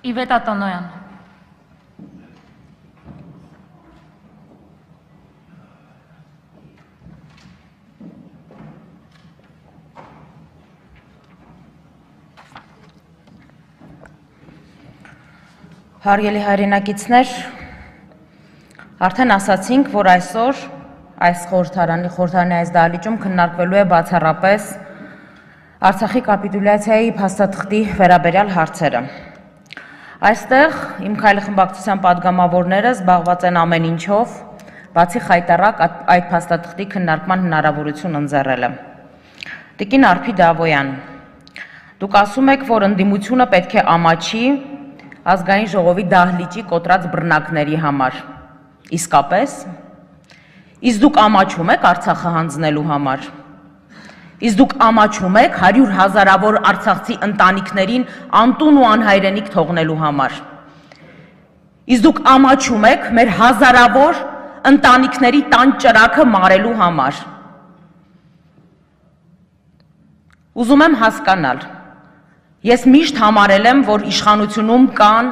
Իվետա Տոնոյան։ Հարգելի հայրենակիցներ, արդեն ասացինք, որ այսօր այս խորհրդարանի այս դահլիճում քննարկվելու է բացառապես Արցախի կապիտուլյացիայի փաստաթղթի վերաբերյալ հարցերը։ Այստեղ իմ քայլի խմբակցության падգամավորները զբաղված են ամեն ինչով, բացի խայտառակ այդ փաստաթղթի քննարկման հնարավորություն ընձեռելը։ Տիկին Արփի Դավոյան, դուք ասում եք, որ ընդդիմությունը պետք է ամաչի Ազգային ժողովի դահլիճի կոտրած բռնակների համար։ Իսկապես, իսկ դուք ամաչում եք Արցախը հանձնելու համար։ Իսկ դուք ամաչում եք 100 հազարավոր արցախցի ընտանիքներին անտուն ու անհայրենիք թողնելու համար։ Իսկ դուք ամաչում եք մեր հազարավոր ընտանիքների տան ճրագը մարելու համար։ Ուզում եմ հասկանալ։ Ես միշտ համարել եմ, որ իշխանությունում կան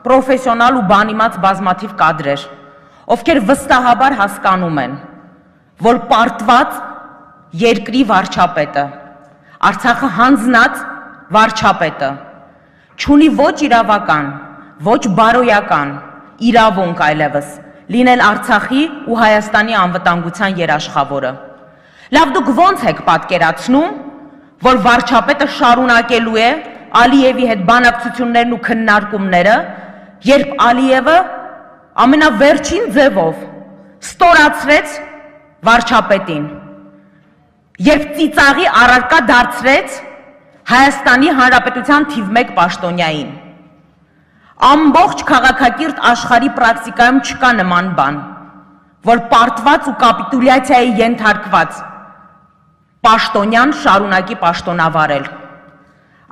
պրոֆեսիոնալ ու բանիմաց բազմաթիվ կադրեր, ովքեր վստահաբար հասկանում են, որ պարտված երկրի վարչապետը, Արցախը հանձնած վարչապետը, չունի ոչ իրավական, ոչ բարոյական իրավունք այլևս լինել Արցախի ու Հայաստանի անվտանգության երաշխավորը։ Լավ, դուք ո՞նց եք պատկերացնում, որ վարչապետը շարունակելու է Ալիևի հետ բանակցություններն ու քննարկումները, երբ Ալիևը ամենավերջին ձևով ստորացրեց վարչապետին, երբ ծիծաղի առարկա դարձրեց Հայաստանի Հանրապետության թիվ 1 պաշտոնյային։ Ամբողջ քաղաքակիրթ աշխարհի պրակտիկայում չկա նման բան, որ պարտված ու կապիտուլյացիայի ենթարկված պաշտոնյան շարունակի պաշտոնավարել։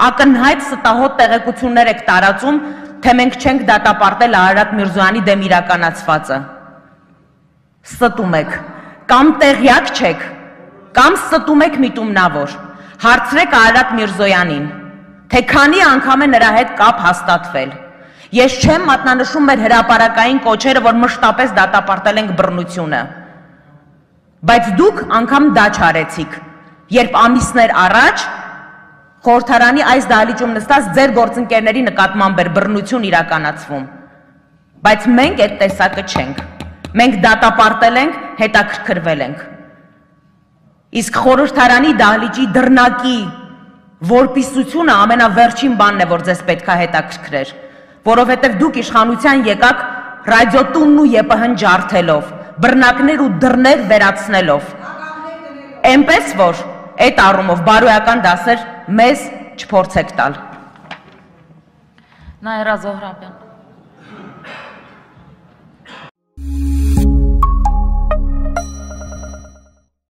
Ակնհայտ ստահոդ տեղեկություններ եք տարածում, թե մենք չենք դատապարտել Արարատ Միրզոյանի դեմ իրականացվածը։ Ստում եք, կամ տեղյակ չեք, կամ ստում եք միտումնավոր։ Հարցրեք Արարատ Միրզոյանին, թե քանի անգամ է նրա հետ կապ հաստատվել։ Ես չեմ մատնանշում մեր հրապարակային կոչերը, որ մշտապես դատապարտել ենք բռնությունը։ Բայց դուք անգամ դա չարեցիք, երբ ամիսներ առաջ խորհրդարանի այս դահլիճում նստած ձեր գործընկերների նկատմամբ էր բռնություն իրականացվում։ Բայց մենք այդ տեսակը չենք։ Մենք դատապարտել ենք, հետաքրքրվել ենք։ Իսկ խորհրդարանի դահլիճի դռնակի որպիսությունը ամենավերջին բանն է, որ ձեզ պետք է հետաքրքրեր, որովհետև դուք իշխանության եկաք ռադիոտունն ու ԵՊՀ-ն ջարդելով, բռնակներ ու դռներ վերացնելով։ Էնպես որ այդ առումով բարոյական դասեր մեզ չփորձեք տալ։ Նաիրա Զոհրաբյան։